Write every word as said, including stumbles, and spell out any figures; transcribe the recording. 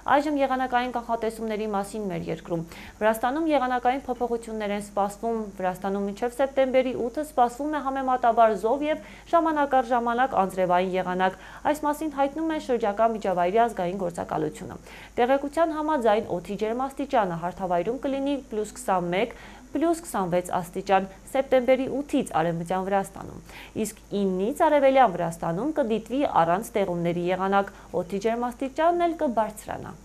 Այժմ եղանակային կանխատեսումների մասին մեր երկրում։ Վրաստանում եղանակային փոփոխություններ են սպասվում։ Վրաստանում մինչև սեպտեմբերի ութը սպասվում է համեմատաբար զով և ժամանակ առ ժամանակ անձրևային եղանակ։ Այս մասին հայտնում է շրջակա միջավայրի ազգային գործակալությունը։ Տեղեկության համաձայն օդի ջերմաստիճանը հարթավայրում կլինի պլյուս քսանմեկ, պլյուս քսանվեց աստիճան սեպտեմբերի ութից արևմտյան Վրաստանում, իսկ ինից արևելյան Վրաստանում կդիտվի առանց տեղումների եղանակ, օդի ջերմաստիճանն էլ կբարձրանա։